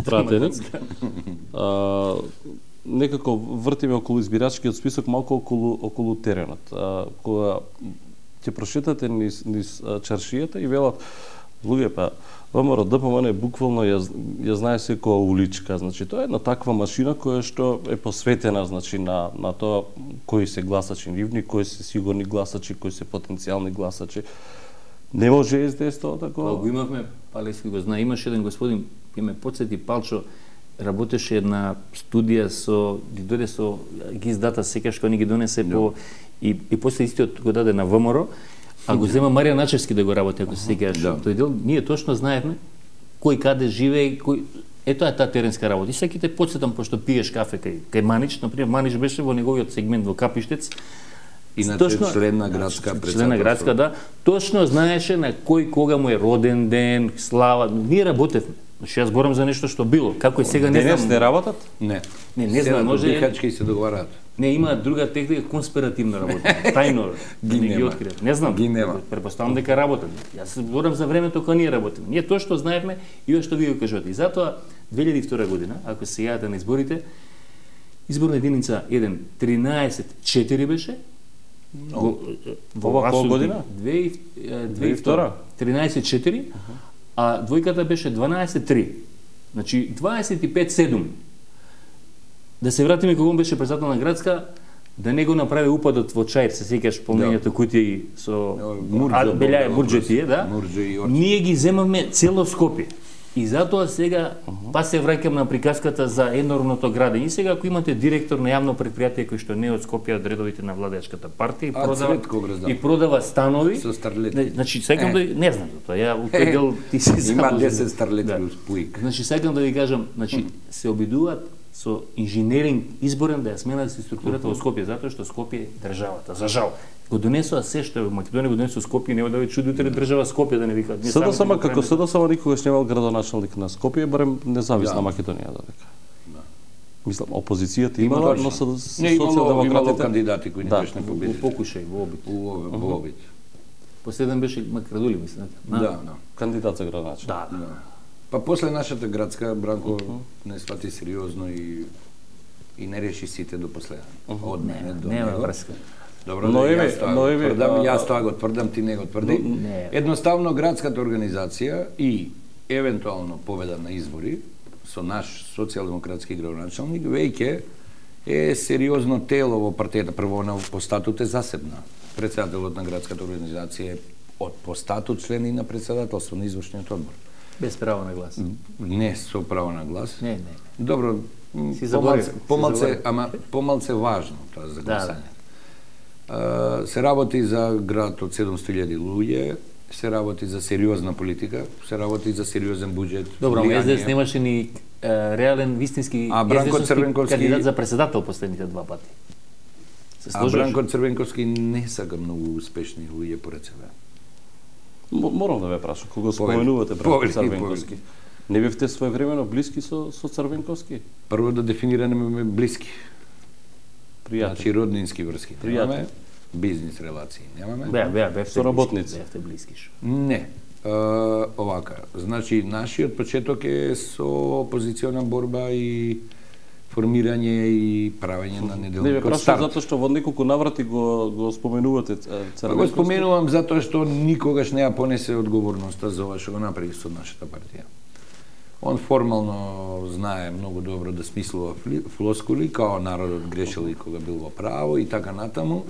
пратеник. А, некако вртиме околу избирачкиот список, малку околу околу теренот. А, кога ќе прошетате низ, низ чаршијата и велат луѓе, па ВМРО ДПМН буквално ја, ја знае секоја уличка, значи тоа е една таква машина која што е посветена, значи на на тоа кои се гласачи нивни, кои се сигурни гласачи, кои се потенцијални гласачи. Не може СДС тоа такова. Го имавме, Палевски го знае, имаше еден господин, ќе ме потсети Палчо, работеше една студија со, ги дојде со, ги издата секогаш кога ни ги донесе по, и, и после истиот го даде на ВМРО, а го зема Марија Начевски да го работи, ако се сеќаваш. Да. Тој дел, ние точно знаевме кој каде живее, кој... Ето е таа теренска работа. И секи те подсетам, пошто пиеш кафе кај, кај Манич, например, Манич беше во неговиот сегмент во Капиштец. Иначе точно, член на градска председателство. Член на градска, да. Точно знаеше на кој кога му е роден ден, слава. Ние работевме. Значи јас зборам за нешто што било. Како и сега не знам. Денес не работат? Не. Не, не знам, може дихачки се договараат. Не, има друга техника, конспиративна работа. Тајно ги не нема. ги откриат. Не знам. Ги нема. Препоставам дека работат. Јас зборам за времето кога ние работиме. Ние тоа што знаевме и ова што ви го кажувате. И затоа две илјади и втора година, ако се јавите на изборите, изборна единица еден тринаесет четири беше. Во ова која година? две и втора. тринаесет четири, а двојката беше дванаесет три. Значи дваесет и пет седум. Да се вратиме кога он беше председател на градска, да не го направи упадот во Чаир, се сеќаш полнењето кутија со белја мурџетие, да? Ние ги земавме цело Скопје. И затоа сега па се враќам на приказката за енормното градење. И сега ако имате директор на јавно предпријатие кој што не е од Скопје, од редовите на владеачката партија и продава и продава станови со старлети. Значи сакам да не знам за тоа. Ја у тој дел ти се има десет старлети у Пуик. Значи сакам да ви кажам, значи се обидуваат со инженеринг изборен да ја сменат структурата во Скопје, затоа што Скопје е државата. За жал. Го донесоа се што во Македонија го донесоа Скопје, нема да ве чуди утре држава Скопје да не викаат. СДСМ како СДСМ никогаш немал градоначалник на Скопје, барем независна Македонија да река. Мислам опозицијата имала, но со социјалдемократите кандидати кои не беше не победили. Во покушај, во обид. Во обид. Последен беше Макрадули, мислам. Да, да. Кандидат за градоначалник. Да, да. Па после нашата градска Бранко не свати сериозно и и не реши сите до последен. Од мене до него. Нема врска. Добро, но да еве, јас тоа но еве, тврдам, а, јас тоа го тврдам, ти не го тврди. Не. Едноставно градската организација и евентуално победа на избори со наш социјалдемократски градоначалник веќе е сериозно тело во партијата. Прво на по статут е засебна. Председателот на градската организација е од по статут член и на председателство на извршниот одбор. Без право на глас. Не со право на глас. Не, не. Добро, си помалце, помалце, ама помалце важно тоа за гласање. Да, да. Се работи за град од седумстотини илјади луѓе, се работи за сериозна политика, се работи за сериозен буџет. Добро, ама СДС немаше ни е, реален вистински а Бранко Црвенковски кандидат за председател последните два пати. Се а Бранко Црвенковски не сака многу успешни луѓе поред себе. Морам да ве прашам, кога споменувате Бранко Црвенковски, не бевте своевремено блиски со со Црвенковски? Прво да дефинираме блиски. Пријатели. Значи роднински врски. Немаме бизнис релации. Немаме. Беа, беа, бевте со работници. Бевте блиски шо. Не. Е, овака. Значи нашиот почеток е со опозициона борба и формирање и правење на неделникот старт. Не, бе, прашам старт. затоа што во неколку наврати го го споменувате Црвенковски. Го споменувам затоа што никогаш не ја понесе одговорноста за ова што го направи со нашата партија. Он формално знае многу добро да смислува флоскули, као народот грешил и кога бил во право и така натаму.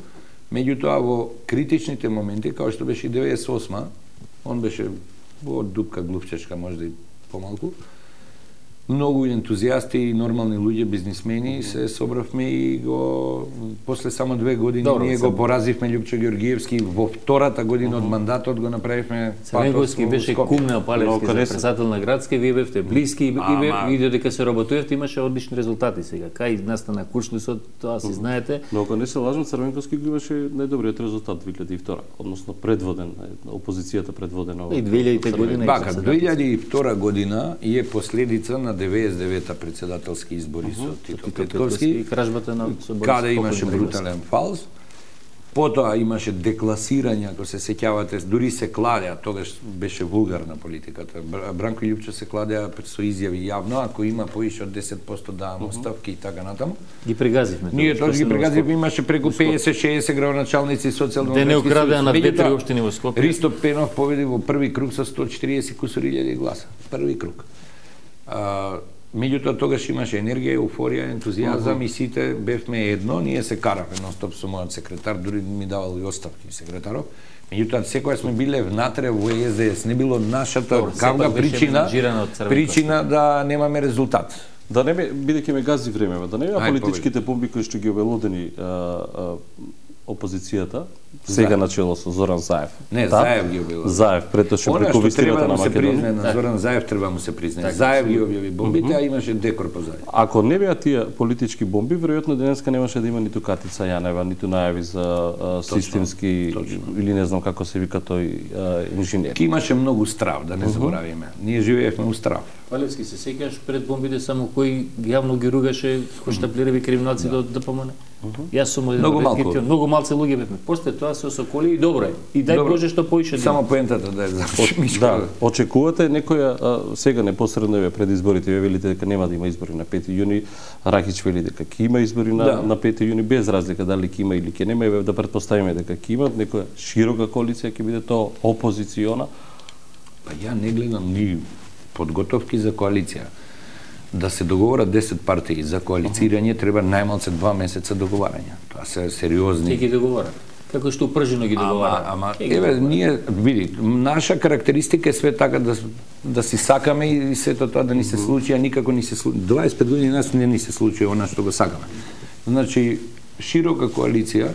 Меѓутоа во критичните моменти, као што беше и деветдесет и осма, он беше во дупка глувчешка, можда и помалку, многу ентузијасти и нормални луѓе, бизнисмени, се собравме и го после само две години Добро, ние го поразивме Љупчо Ѓоргиевски во втората година од мандатот го направивме. Црвенковски беше кум на Палевски за председател на градски, вие бевте блиски и бе видео дека се работувате, имаше одлични резултати сега. Кај настана куршлисот, тоа си знаете. Но ако не се лажам, Црвенковски го имаше најдобриот резултат две илјади и втора, односно предводен, опозицијата предводена. И две илјади година. Бака, две илјади и втора година е последица на деветдесет и девета председателски избори uh -huh. со Тито Петковски и кражбата на каде имаше брутален фалс. Потоа имаше декласирање, ако се сеќавате, дури се кладеа, тогаш беше вулгарна политиката. Бранко и Љупчо се кладеа со изјави јавно, ако има поише од десет проценти давам uh -huh. оставки и така натаму. Ги прегазивме. Ние тоа ги прегазивме, имаше преку педесет шеесет градоначалници социјалдемократски. Де не украдеа на две-три општини во Скопје. Ристо Пенов победи во први круг со сто четириесет кусури илјади гласа. Први круг. А, меѓутоа тогаш имаше енергија, еуфорија, ентузијазам uh -huh. и сите бевме едно, ние се каравме нон-стоп со мојот секретар, дури ми давал и оставки секретаров. Меѓутоа секоја сме биле внатре во Е С Д С, не било нашата гавна причина причина да немаме резултат. Да не бе, бидејќи ме гази време, да не бе политичките бомби кои што ги обелодени опозицијата, сега начело со Зоран Заев. Не, да? Заев ги објави. Заев претоше преку вистината на Македонија. На Зоран Заев треба му се признае. Заев ги објави бомбите, а имаше декор по Заев. Ако не беа тие политички бомби, веројатно денеска немаше да има ниту Катица Јанева, ниту најави за а, системски точно, точно. Или не знам како се вика тој а, инженер. Ки имаше многу страв, да не заборавиме. Ние живеевме у страв. Палевски, се сеќаш пред бомбите само кој јавно ги ругаше хоштаплирави криминалци да да помане. Јас сум еден многу малку, многу малце луѓе бевме. После тоа се осоколи и добро е. И дај добро. Боже што поише. Само поентата да е заврши. Да, очекувате некоја а, сега непосредно еве пред изборите, ве велите дека нема да има избори на пети јуни, Рахич вели дека ќе има избори на да. на пети јуни без разлика дали ќе има или ќе нема, еве да претпоставиме дека ќе има некоја широка коалиција, ќе биде тоа опозициона. Па ја не гледам ни подготовки за коалиција. Да се договорат десет партии за коалицирање, треба најмалце два месеца договарање. Тоа се сериозни. Ќе ги договорат. Како што упржено ги договарат. Ама, ама еве, ние, види, наша карактеристика е све така да, да си сакаме и сето тоа да ни се случи, а никако ни се случи. дваесет и пет години нас не ни се случи она што го сакаме. Значи, широка коалиција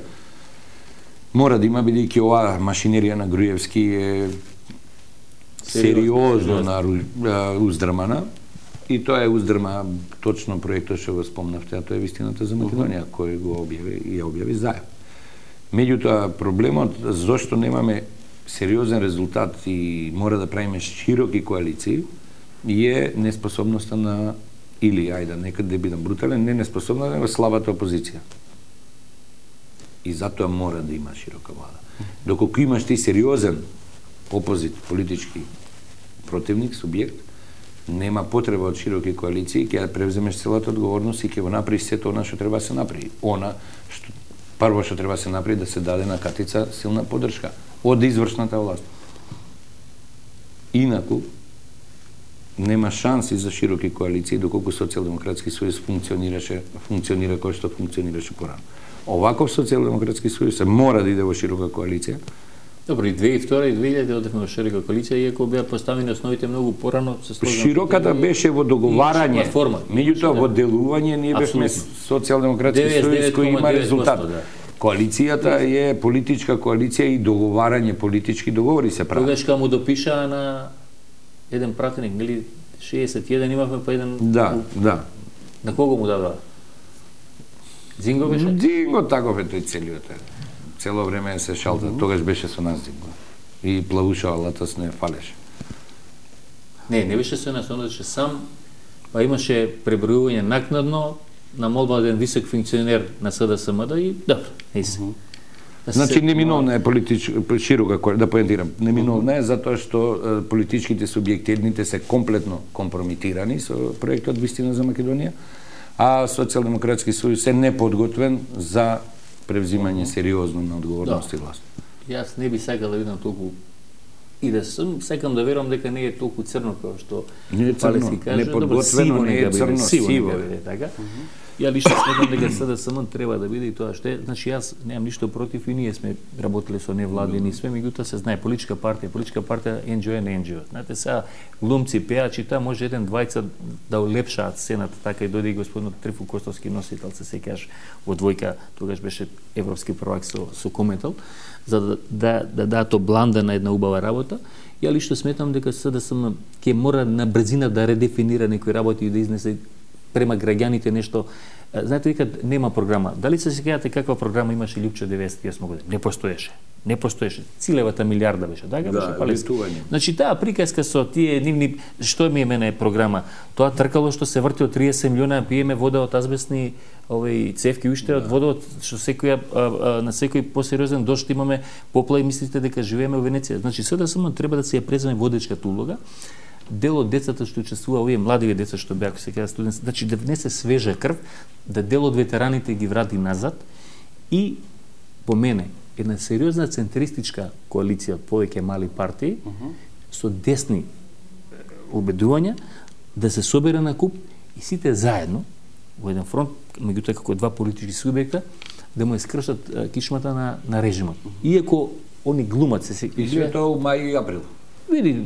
мора да има, бидејќи оваа машинерија на Груевски е сериозно на уздрмана. И тоа е уздрма точно проектот што го спомнавте, а тоа е вистината за Македонија, кој го објави и ја објави Заев. Меѓутоа, проблемот зошто немаме сериозен резултат и мора да правиме широки коалиции е неспособноста на, или, ајде, некаде да бидам брутален, не неспособна, него слабата опозиција. И затоа мора да има широка влада. Доколку имаш ти сериозен опозит, политички противник, субјект, нема потреба од широки коалиции, ќе ја превземеш целата одговорност и ќе го направиш сето она што треба да се направи. Она што прво што треба да се направи да се даде на Катица силна поддршка од извршната власт. Инаку нема шанси за широки коалиции доколку Социјалдемократски сојуз функционираше, функционира кој што функционираше порано. Оваков Социјалдемократски сојуз мора да иде во широка коалиција. Добро, и две илјади и втора и две илјади одевме во широка коалиција, иако беа поставени основите многу порано, се сложно. Широката беше во договарање, меѓутоа во делување ние бевме Социјалдемократски сојуз кој има резултат. Да. Коалицијата е политичка коалиција и договарање, политички договори се прават. Тогаш кога му допишаа на еден пратеник, нели шеесет и еден имавме по еден. Да, да. На кого му дава? Зинго беше? Зинго таков е тој целиот. Цело време се шалта, mm -hmm. тогаш беше со нас Зинго. И плавушава латас не фалеше. Не, не беше со нас, он беше сам, па имаше пребројување накнадно на молба од еден висок функционер на С Д С М Д и добро, не се. Mm -hmm. Значи неминовна е политичка широка, да поентирам, неминовна е затоа што политичките субјекти едните се комплетно компромитирани со проектот Вистина за Македонија, а Социјалдемократски сојуз е неподготвен за превзимање сериозно на одговорност и власт. Јас не би сакал да видам толку И да сум, секам да верувам дека не е толку црно како што не е црно, каже, неподготвено, не е црно, сиво е така. Uh -huh. Ја лично сметам дека СДСМ треба да биде и тоа што е, значи јас немам ништо против и ние сме работеле со невладени све, меѓутоа се знае политичка партија, политичка партија Ен Џи О е не Ен Џи О. Знаете сега глумци, пеачи, таа може еден двајца да улепшаат сцената, така и дојде и господинот Трифун Костовски носител, се сеќаш во двојка, тогаш беше европски prvак со со Кометал, за да да да дадат бланда на една убава работа. Ја лично сметам дека СДСМ ќе мора на брзина да редефинира некои работи и да изнесе према граѓаните нешто. Знаете, дека нема програма. Дали се сеќавате каква програма имаше Лјупче деветдесет и осма година? Не постоеше. Не постоеше. Целевата милиарда беше, така беше палески. Значи таа приказка со тие нивни што ми е мене програма, тоа тркало што се врти од триесет милиона, пиеме вода од азбестни овој цевки уште од водот што секоја на секој посериозен дожд имаме поплави, мислите дека живееме во Венеција. Значи СДСМ треба да се ја преземе водечката улога. Дел од децата што учествува, овие младиве деца што беа, се кажа студенти, значи да внесе свежа крв, да дел од ветераните ги врати назад и по мене една сериозна центристичка коалиција од повеќе мали партии uh -huh. со десни убедувања да се собере на куп и сите заедно во еден фронт, меѓутоа како два политички субјекта, да му искршат кичмата на на режимот. Uh -huh. Иако они глумат се се и се тоа во мај и април. Види,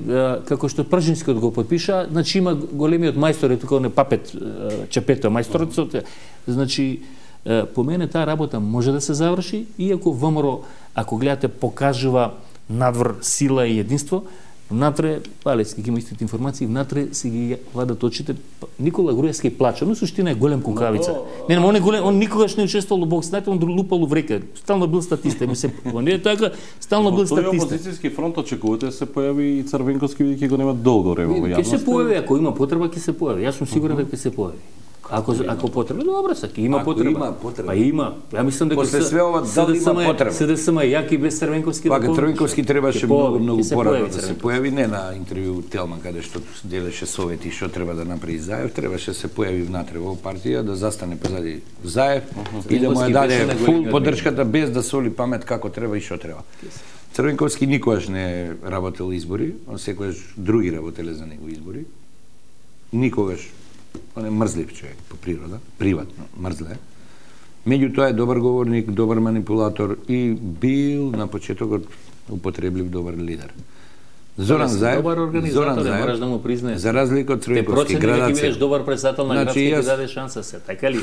како што Пржинскиот го подпиша, значи има големиот мајстор, тука не папет Чепето мајсторот, значи по мене таа работа може да се заврши, иако ВМРО, ако гледате, покажува надвор сила и единство, внатре, Палевски ги има истите информации, внатре си ги владат очите. Никола Груевски плача, но суштина е голем кукавица. Не, не, он е голем, он никогаш не учествувал во бокс, знаете, он лупал в река, стално бил статиста, му се, он е така, стално бил статиста. Во тој опозицијски фронт очекувате се појави и Црвенковски, бидејќи го нема долго време во јавност. Ќе се појави, ако има потреба, ќе се појави. Јас сум сигурен дека ќе се појави. Ако ако потреба, добро се, има ако потреба. Има потреба. Па има. Ја мислам дека после све ова дали има потреба. СДСМ е јак и без Црвенковски. Па Црвенковски требаше многу многу порано да се појави, не на интервју Телман каде што делеше совети што треба да направи Заев, требаше да се појави внатре во партија, да застане позади Заев и да му ја даде фул поддршката без да соли памет како треба и што треба. Црвенковски никогаш не работел избори, он секогаш други работеле за него избори. Никогаш. Он е мрзлив човек по природа, приватно, мрзле. Меѓутоа е добар говорник, добар манипулатор и бил на почетокот употреблив добар лидер. Зоран Заев, добар организатор, мораш да му признаеш. За разлика од Црвенковски градација. Те бидеш добар председател на значи, градски, јас... ти даде шанса се, така ли?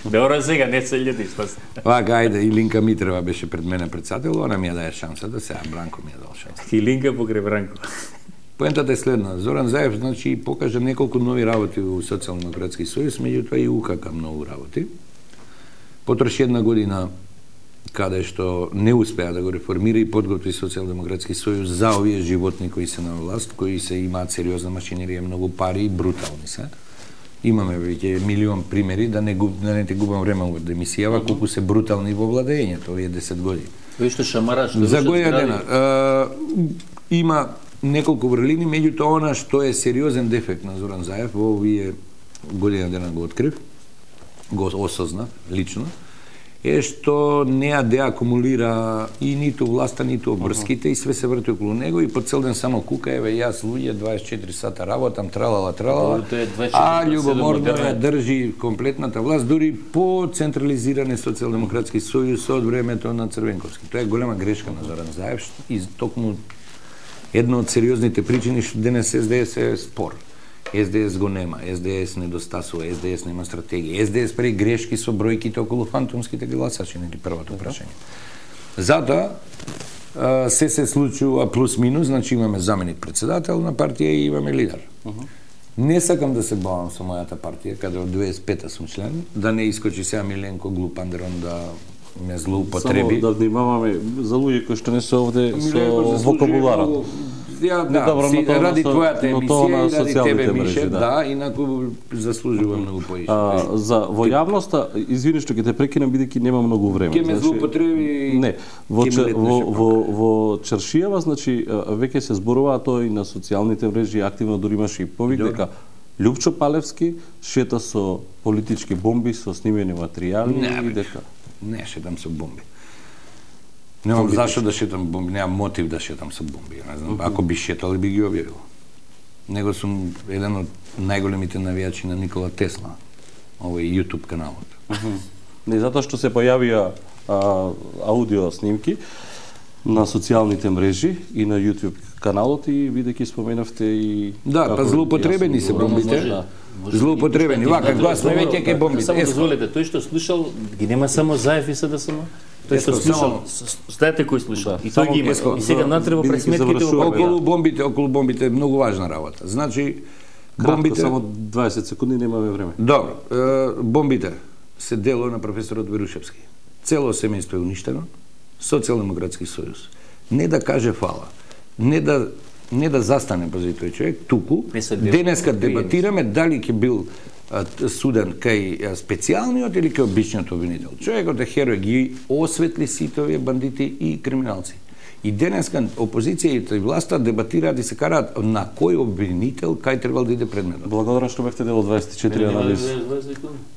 Добро сега, не се љути, што се. Вака, ајде, и Линка Митрева беше пред мене председател, она ми ја даде шанса, да сега Бранко ми ја дал шанса. И Линка покрај Бранко. Поентата е следна. Зоран Заев, значи, покажа неколку нови работи во Социјалдемократски сојуз, меѓутоа и УКК многу работи. Потрош една година каде што не успеа да го реформира и подготви Социјалдемократски сојуз за овие животни кои се на власт, кои се имаат сериозна машинерија, многу пари и брутални се. Имаме веќе милион примери, да не, губ, да не те губам време во демисијава, колку се брутални во владењето овие десет години. Тој што шамара, што за година дена. А, има неколку врлини, меѓутоа она што е сериозен дефект на Зоран Заев во овие година дена го открив, го осознав лично, е што не ја деакумулира и ниту власта, ниту обврските, uh -huh. и све се врти околу него и по цел ден само кука, еве јас луѓе дваесет и четири сата работам, тралала, тралала, а љубоморно ја држи комплетната власт, дури по централизиране Социјалдемократски сојуз од времето на Црвенковски. Тоа е голема грешка на Зоран Заев и токму една од сериозните причини што денес Ес Де Ес е спор. Ес Де Ес го нема, Ес Де Ес недостасува, Ес Де Ес нема стратегија. Ес Де Ес прави грешки со бројките околу фантомските гласачи, нели првото прашање. Затоа се се случува плюс-минус, значи имаме заменик председател на партија и имаме лидер. Uh -huh. Не сакам да се бавам со мојата партија, каде од дваесет и пета сум член, да не искочи сега Миленко Глупандерон да не злоупотреби. Само да внимаваме за луѓе кои што не се овде со вокабуларот. Ја, да, си, ради твојата емисија и ради тебе, Мише, да, да, инаку заслужува многу поише. За во јавноста, извини што ќе те прекинам бидејќи нема многу време. Ке ме злоупотреби. Не, во во во во Чаршијава, значи веќе се зборува тоа и на социјалните мрежи, активно дури имаше и повик дека Лјупчо Палевски шета со политички бомби, со снимени материјали не, и дека не шетам со бомби. Немам зашто да шетам бомби, немам мотив да шетам со бомби, не знам. Ако би шетал, би ги објавил. Него сум еден од најголемите навијачи на Никола Тесла, овој YouTube каналот. Не затоа што се појавија а, аудио снимки на социјалните мрежи и на YouTube каналот и бидејќи споменавте и да, па злоупотребени се бомбите. Да. Злоупотребени. Вака, кога сме веќе кај бомбите. Само дозволете, тој што слушал ги нема само Заев и СДСМ. Тој што слушал, знаете кој слушал. И тој ги има. И сега натреба пред сметките околу бомбите, околу бомбите е многу важна работа. Значи бомбите само дваесет секунди, немаме време. Добро, бомбите се дело на професорот Верушевски. Цело семејство е уништено. Социјалдемократски сојуз. Не да каже фала, не да не да застане пози тој човек, туку денеска дебатираме дали ќе бил а, суден кај специјалниот или кај обичниот обвинител. Човекот е херој, ги осветли сите овие бандити и криминалци. И денеска опозицијата и власта дебатираат и се караат на кој обвинител кај требал да иде предметот. Благодарам што бевте дел од дваесет и четири анализи.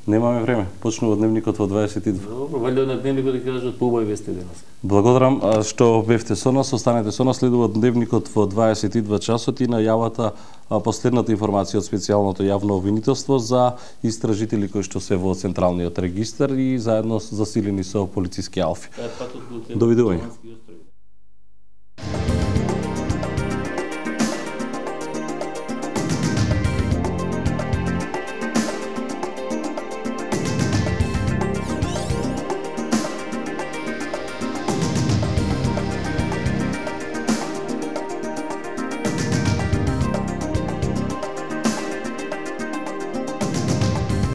Немаме време. Почнува дневникот во дваесет и два. Добро, валјда на дневникот да кажат поубави вести денес. Благодарам што бевте со нас, останете со нас, следува дневникот во дваесет и два часот и најавата последната информација од специјалното јавно обвинителство за истражители кои што се во централниот регистар и заедно засилени со полициски алфи. Довидување.